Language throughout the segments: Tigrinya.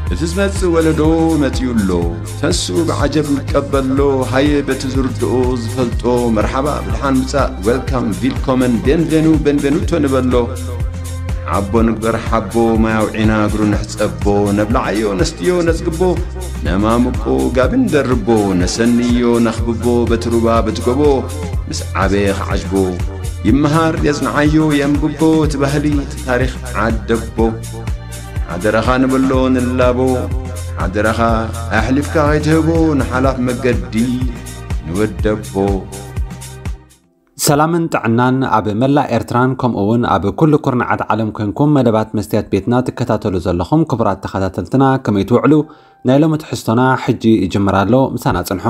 እቲ ዝመጽእ ወለዶ መጺኡ ኣሎ። ተስኡ ብዓጀብ ይቀበሎ። ሃየ በቲ ዝርድኦ ዝፈልጦ መርሓባ ብድሓን ምጻእ፣ ዌልካም፣ ቪልኮመን፣ ቤንቬኑ፣ ቤንቬኑቶ ንበሎ። ሓቦ ንግበር ሓቦ፣ ማይ ኣውዒና እግሩ ንሕጸቦ። ነብልዓዮ ነስትዮ ነጽግቦ፣ ነማምቆ ጋቢ ንደርቦ። ነሰንዮ ነኽብቦ በቲ ሩባ በቲ ጎቦ፣ ምስ ዓበየ ክዓጅቦ። ይመሃር የጽንዓዮ የንብቦ እቲ ባህሊ እቲ ታሪኽ ዓደቦ። ሓደራኻ ንበሎ ንላቦ፣ ሓደራኻ ኣሕሊፍካ ከይትህቦ ንሓላፍ መገዲ ንወደቦ። ሰላምን ጥዕናን ኣብ መላእ ኤርትራን ከምኡ እውን ኣብ ኩሉ ኩርናዓት ዓለም ኮንኩም መደባት መስትያት ቤትና ትከታተሉ ዘለኹም ክቡራት ተኸታተልትና ከመይ ትውዕሉ? ናይ ሎሚ ትሕዝቶና ሕጂ ይጅምር ኣሎ፣ ምሳና ጽንሑ።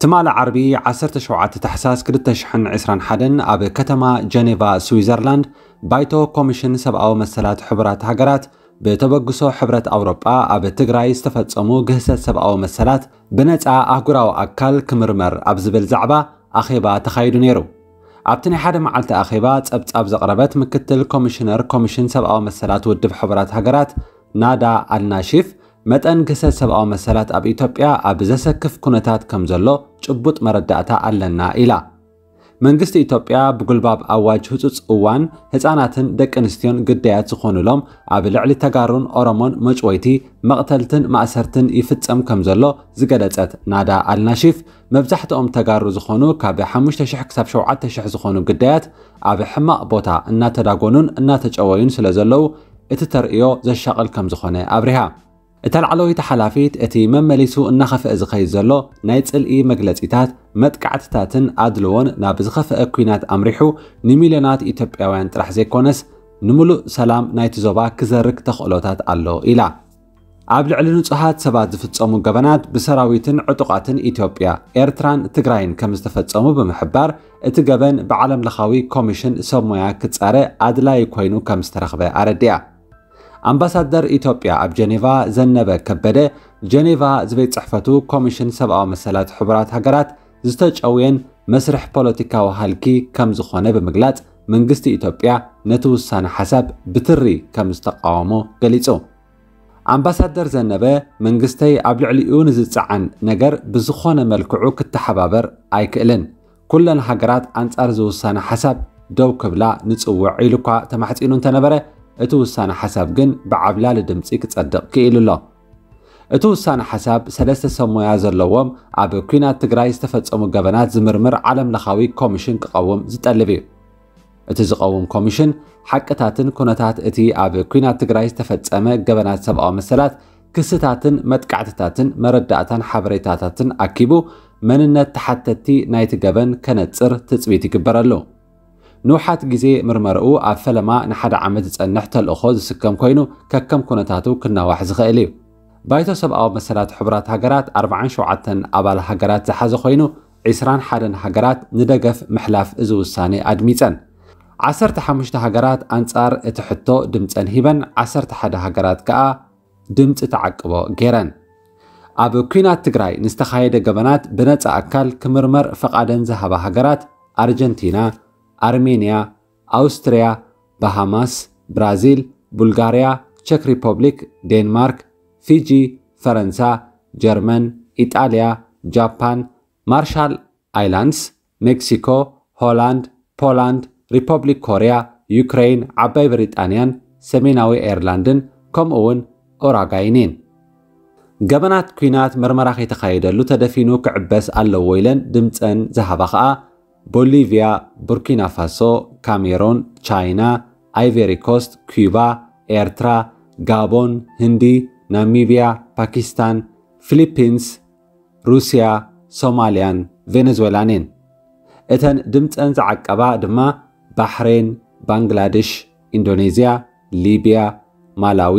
ትማሊ ዓርቢ ዓሰርተ ሸውዓተ ታሕሳስ ክልተ ሽሕን ዕስራን ሓደን ኣብ ከተማ ጀኔቫ ስዊዘርላንድ ባይቶ ኮሚሽን ሰብኣዊ መሰላት ሕቡራት ሃገራት ብተበግሶ ሕብረት ኣውሮጳ ኣብ ትግራይ ዝተፈጸሙ ግህሰት ሰብኣዊ መሰላት ብነጻ ኣህጉራዊ ኣካል ክምርመር ኣብ ዝብል ዛዕባ ኣኼባ ተኻይዱ ነይሩ። ኣብቲ ናይ ሓደ መዓልቲ ኣኼባ ጸብጻብ ዘቕረበት ምክትል ኮሚሽነር ኮሚሽን ሰብኣዊ መሰላት ውድብ ሕቡራት ሃገራት ናዳ ኣልናሺፍ፣ መጠን ግህሰት ሰብኣዊ መሰላት ኣብ ኢትዮጵያ ኣብ ዘሰክፍ ኩነታት ከም ዘሎ ጭቡጥ መረዳእታ ኣለና ኢላ። መንግስቲ ኢትዮጵያ ብጉልባብ ኣዋጅ ህጹጽ እዋን ህጻናትን ደቂ ኣንስትዮን ግዳያት ዝኾኑሎም ኣብ ልዕሊ ተጋሩን ኦሮሞን መጭወይቲ፣ መቕተልትን ማእሰርትን ይፍጸም ከም ዘሎ ዝገለጸት ናዳ ኣልናሺፍ፣ መብዛሕትኦም ተጋሩ ዝኾኑ ካብ ሓሙሽተ ሽሕ ክሳብ ሸውዓተ ሽሕ ዝኾኑ ግዳያት ኣብ ሕማቕ ቦታ እናተዳጎኑን እናተጨወዩን ስለ ዘለዉ እቲ ተርእዮ ዘሻቕል ከም ዝኾነ ኣብሪሃ። እታ ላዕለወይቲ ሓላፊት፣ እቲ መመሊሱ እናኸፍአ ዝኸይድ ዘሎ ናይ ጽልኢ መግለጺታት፣ መጥቃዕትታትን ኣድልዎን ናብ ዝኸፍአ ኲናት ኣምሪሑ ንሚልዮናት ኢትዮጵያውያን ጥራሕ ዘይኮነስ ንምሉእ ሰላም ናይቲ ዞባ ክዘርግ ተኽእሎታት ኣሎ ኢላ። ኣብ ልዕሊ ንጹሃት ሰባት ዝፍጸሙ ገበናት ብሰራዊትን ዕጡቓትን ኢትዮጵያ፣ ኤርትራን ትግራይን ከም ዝተፈጸሙ ብምሕባር፣ እቲ ገበን ብዓለምለኻዊ ኮሚሽን ሰብ ሞያ ክጻረ ኣድላዪ ኮይኑ ከም ዝተረኽበ ኣረዲኣ። ኣምባሳደር ኢትዮጵያ ኣብ ጀኔቫ ዘነበ ከበደ፣ ጀኔቫ ዝቤት ጽሕፈቱ ኮሚሽን ሰብኣዊ መሰላት ሕቡራት ሃገራት ዝተጨውየን መስርሕ ፖለቲካዊ ሃልኪ ከም ዝኾነ ብምግላጽ፣ መንግስቲ ኢትዮጵያ ነቲ ውሳነ ሓሳብ ብትሪ ከም ዝተቃወሞ ገሊጹ። ኣምባሳደር ዘነበ፣ መንግስተይ ኣብ ልዕሊኡ ንዝጸዓን ነገር ብዝኾነ መልክዑ ክተሓባበር ኣይክእልን። ኩለን ሃገራት ኣንጻር እዚ ውሳነ ሓሳብ ደው ክብላ ንጽውዕ ኢሉ እኳ ተማሕጺኑ እንተነበረ፣ እቲ ውሳነ ሓሳብ ግን ብዓብላሊ ድምጺ ክጸድቕ ክኢሉ ኣሎ። እቲ ውሳነ ሓሳብ ሰለስተ ሰብ ሞያ ዘለዎም ኣብ ኲናት ትግራይ ዝተፈጸሙ ገበናት ዝምርምር ዓለምለኻዊ ኮሚሽን ክቐውም ዝጠልብ እዩ። እቲ ዝቐውም ኮሚሽን ሓቅታትን ኩነታት እቲ ኣብ ኲናት ትግራይ ዝተፈጸመ ገበናት ሰብኣዊ መሰላት ክስታትን መጥቃዕትታትን መረዳእታን ሓበሬታታትን ኣኪቡ መንነት ተሓተቲ ናይቲ ገበን ከነጽር ትጽቢት ይግበረሉ። ንውሓት ግዜ ምርመርኡ ኣብ ፈለማ ንሓደ ዓመት ዝጸንሕ ተልእኾ ዝስከም ኮይኑ ከከም ኩነታቱ ክናዋሕ ዝኽእል እዩ። ባይቶ ሰብኣዊ መሰላት ሕቡራት ሃገራት ኣርባዓን ሸውዓተን ኣባል ሃገራት ዝሓዘ ኮይኑ ዕስራን ሓደን ሃገራት ንደገፍ ምሕላፍ እዚ ውሳኔ ኣድሚጸን። ዓሰርተ ሓሙሽተ ሃገራት ኣንጻር እቲ ሕቶ ድምጸን ሂበን፣ ዓሰርተ ሓደ ሃገራት ከኣ ድምጺ ተዓቅቦ ገይረን። ኣብ ኲናት ትግራይ ንዝተኻየደ ገበናት ብነጻ ኣካል ክምርመር ፈቓደን ዝሃባ ሃገራት ኣርጀንቲና፣ ኣርሜንያ፣ ኣውስትርያ፣ ባሃማስ፣ ብራዚል፣ ቡልጋርያ፣ ቸክ ሪፐብሊክ፣ ዴንማርክ፣ ፊጂ፣ ፈረንሳ፣ ጀርመን፣ ኢጣልያ፣ ጃፓን፣ ማርሻል ኣይላንድስ፣ ሜክሲኮ፣ ሆላንድ፣ ፖላንድ፣ ሪፐብሊክ ኮርያ፣ ዩክረይን፣ ዓባይ ብሪጣንያን ሰሜናዊ ኣየርላንድን ከምኡ እውን ኡራጋይን እየን። ገበናት ኲናት መርመራ ከይተኻየደሉ ተደፊኑ ክዕበስ ኣለዎ ኢለን ድምፀን ዝሃባ ኸዓ ቦሊቪያ፣ ቡርኪና ፋሶ፣ ካሜሮን፣ ቻይና፣ ኣይቬሪ ኮስት፣ ኪዩባ፣ ኤርትራ፣ ጋቦን፣ ህንዲ፣ ናሚቢያ፣ ፓኪስታን፣ ፊሊፒንስ፣ ሩስያ፣ ሶማልያን ቬነዝዌላን እየን። እተን ድምፀን ዝዓቀባ ድማ ባሕሬን፣ ባንግላድሽ፣ ኢንዶኔዝያ፣ ሊብያ፣ ማላዊ፣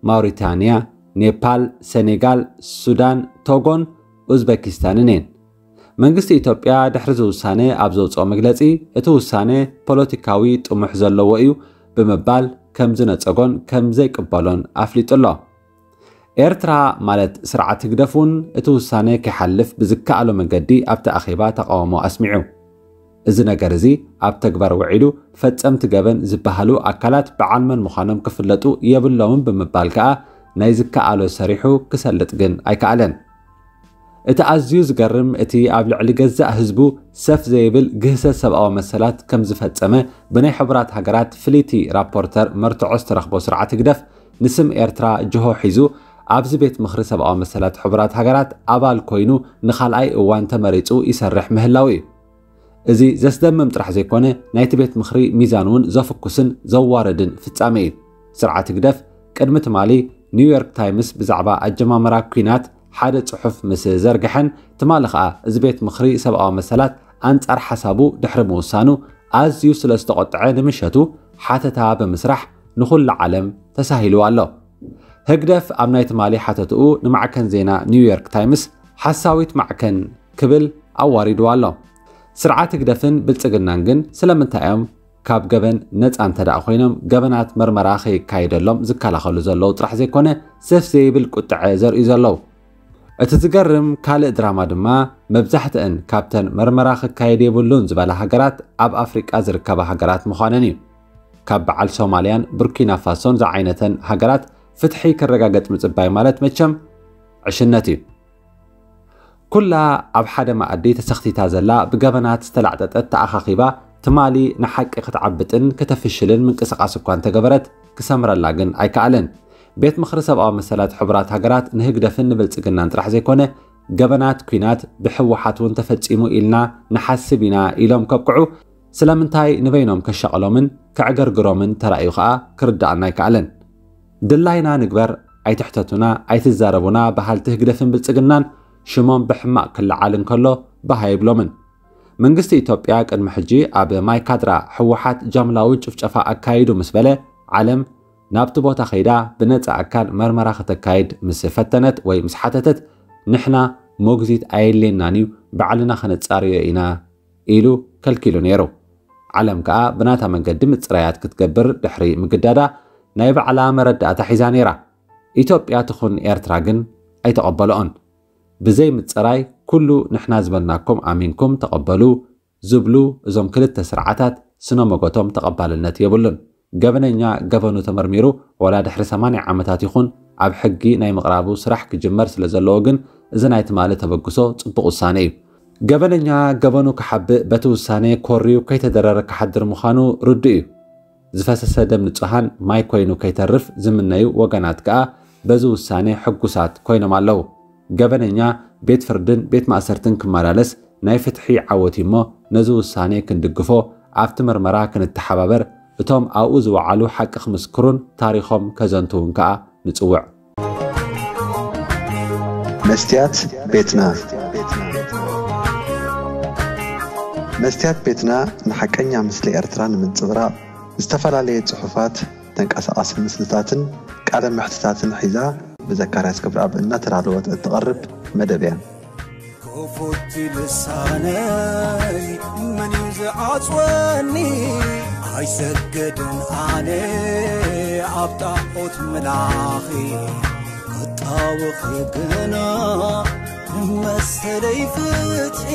ማውሪታንያ፣ ኔፓል፣ ሴኔጋል፣ ሱዳን፣ ቶጎን ኡዝቤኪስታንን እየን። መንግስቲ ኢትዮጵያ ድሕሪ እዚ ውሳነ ኣብ ዘውፅኦ መግለፂ፣ እቲ ውሳነ ፖለቲካዊ ጥሙሕ ዘለዎ እዩ ብምባል ከም ዝነፀጎን ከም ዘይቅበሎን ኣፍሊጡ ኣሎ። ኤርትራ ማለት ስርዓት ህግደፍ እውን እቲ ውሳነ ከይሓልፍ ብዝከኣሎ መገዲ ኣብቲ ኣኼባ ተቓውሞ ኣስሚዑ። እዚ ነገር እዚ ኣብ ተግባር ውዒሉ ፈጸምቲ ገበን ዝበሃሉ ኣካላት በዓል መን ምዃኖም ክፍለጡ የብሎምን ብምባል ከኣ ናይ ዝከኣሎ ሰሪሑ ክሰልጥ ግን ኣይከኣለን። እቲ ኣዝዩ ዝገርም እቲ ኣብ ልዕሊ ገዛእ ህዝቡ ሰፍ ዘይብል ግህሰት ሰብኣዊ መሰላት ከም ዝፈጸመ ብናይ ሕቡራት ሃገራት ፍልይቲ ራፖርተር መርትዖ ዝተረኽቦ ስርዓት ህግደፍ ንስም ኤርትራ ጅሆ ሒዙ ኣብዚ ቤት ምኽሪ ሰብኣዊ መሰላት ሕቡራት ሃገራት ኣባል ኮይኑ ንኻልኣይ እዋን ተመሪጹ ይሰርሕ ምህላው እዩ። እዚ ዘስደምም ጥራሕ ዘይኮነ ናይቲ ቤት ምኽሪ ሚዛን እውን ዘፍኩስን ዘዋርድን ፍጻሜ እዩ። ስርዓት ህግደፍ ቅድሚ ትማሊ ኒውዮርክ ታይምስ ብዛዕባ ኣጀማምራ ኲናት ሓደ ጽሑፍ ምስ ዘርግሐን ትማሊ ኸኣ እዚ ቤት ምኽሪ ሰብኣዊ መሰላት ኣንጻር ሓሳቡ ድሕሪ ምውሳኑ ኣዝዩ ስለ ዝተቖጥዐ ንምሸቱ ሓተታ ብምስራሕ ንኹሉ ዓለም ተሳሂሉ ኣሎ። ህግደፍ ኣብ ናይ ትማሊ ሓተትኡ ንማዕከን ዜና ኒውዮርክ ታይምስ ሓሳዊት ማዕከን ክብል ኣዋሪድዋ ኣሎ። ስርዓት ህግደፍን ብልጽግናን ግን ስለምንታይ እዮም ካብ ገበን ነጻ እንተ ደኣ ኮይኖም ገበናት መርመራ ከይካየደሎም ዝከላኸሉ ዘለዉ ጥራሕ ዘይኮነ ሰፍ ዘይብል ቁጥዐ ዘርእዩ ዘለዉ? እቲ ዝገርም ካልእ ድራማ ድማ መብዛሕትአን ካብተን መርመራ ክካየድ የብሉን ዝበላ ሃገራት ኣብ ኣፍሪቃ ዝርከባ ሃገራት ምዃነን እዩ። ካብ በዓል ሶማልያን ቡርኪና ፋሶን ዝዓይነተን ሃገራት ፍትሒ ክረጋገጽ ምጽባይ ማለት መቸም ዕሽነት እዩ። ኩላ ኣብ ሓደ መኣዲ ተሰኽቲታ ዘላ ብገበናት ዝተላዕጠጠት ተኣኻኺባ ትማሊ ንሓቂ ክትዓብጥን ከተፍሽልን ምንቅስቓስ እኳ እንተገበረት ክሰምረላ ግን ኣይከኣለን። ቤት ምኽሪ ሰብኣዊ መሰላት ሕቡራት ሃገራት ንህግደፍን ንብልጽግናን ጥራሕ ዘይኮነ ገበናት ኲናት ብሕወሓት እውን ተፈጺሙ ኢልና ንሓስብ ኢና ኢሎም ከብቅዑ ስለምንታይ ንበይኖም ከሻቕሎምን ከዕገርግሮምን ተራእዩ ኸኣ ክርድኣና ኣይከኣለን። ድላይና ንግበር፣ ኣይትሕተቱና፣ ኣይትዛረቡና በሃልቲ ህግደፍን ብልጽግናን ሽሞም ብሕማቕ ክለዓል እንከሎ ባህ ኣይብሎምን። መንግስቲ ኢትዮጵያ ቅድሚ ሕጂ ኣብ ማይካድራ ህወሓት ጃምላዊ ጭፍጨፋ ኣካይዱ ምስ በለ ዓለም ናብቲ ቦታ ከይዳ ብነጻ ኣካል መርመራ ከተካይድ ምስ ፈተነት ወይ ምስ ሓተተት ንሕና ሞግዚት ኣየድልየናን እዩ፣ ባዕልና ከነጻርዮ ኢና ኢሉ ከልኪሉ ነይሩ። ዓለም ከኣ ብናታ መንገዲ ምጽራያት ክትገብር ድሕሪ ምግዳዳ ናይ ባዕላ መረዳእታ ሒዛ ነይራ። ኢትዮጵያ ትኹን ኤርትራ ግን ኣይተቐበልኦን። ብዘይ ምጽራይ ኩሉ ንሕና ዝበልናኩም ኣሚንኩም ተቐበሉ ዝብሉ እዞም ክልተ ስርዓታት ስነ መጎቶም ተቐባልነት የብሉን። ገበነኛ ገበኑ ተመርሚሩ ዋላ ድሕሪ ሰማንያ ዓመታት ይኹን ኣብ ሕጊ ናይ ምቕራቡ ስራሕ ክጅመር ስለ ዘለዎ ግን እዚ ናይ ትማሊ ተበግሶ ጽቡቕ ውሳነ እዩ። ገበነኛ ገበኑ ክሓብእ በቲ ውሳነ ኮርዩ ከይተደረረ ክሓድር ምዃኑ ርዱእ እዩ። ዝፈሰሰ ደም ንጹሃን ማይ ኮይኑ ከይተርፍ ዝምነዩ ወገናት ከኣ በዚ ውሳነ ሕጉሳት ኮይኖም ኣለዉ። ገበነኛ ቤት ፍርድን ቤት ማእሰርትን ክመላለስ ናይ ፍትሒ ዓወት እዩ እሞ ነዚ ውሳነ ክንድግፎ ኣብቲ ምርመራ ክንተሓባበር እቶም ኣብኡ ዝወዓሉ ሓቂ ክምስክሩን ታሪኾም ከዘንትዉን ከኣ ንጽውዕ። መስትያት ቤትና። መስትያት ቤትና ንሓቀኛ ምስሊ ኤርትራ ንምንጽብራቕ ዝተፈላለየ ጽሑፋት፣ ተንቀሳቓሲ ምስልታትን ቃለ መሕትታትን ሒዛ ብዘካርያስ ክብረኣብ እናተዳለወት እትቐርብ መደብ እያ። ክፉት ልሳነይ መን እዩ ዝዓጽወኒ? ኣይሰግድን ኣነ ኣብ ጣዖት ምላኺ ክጣወኺ ግና መሰለይ ፍትሒ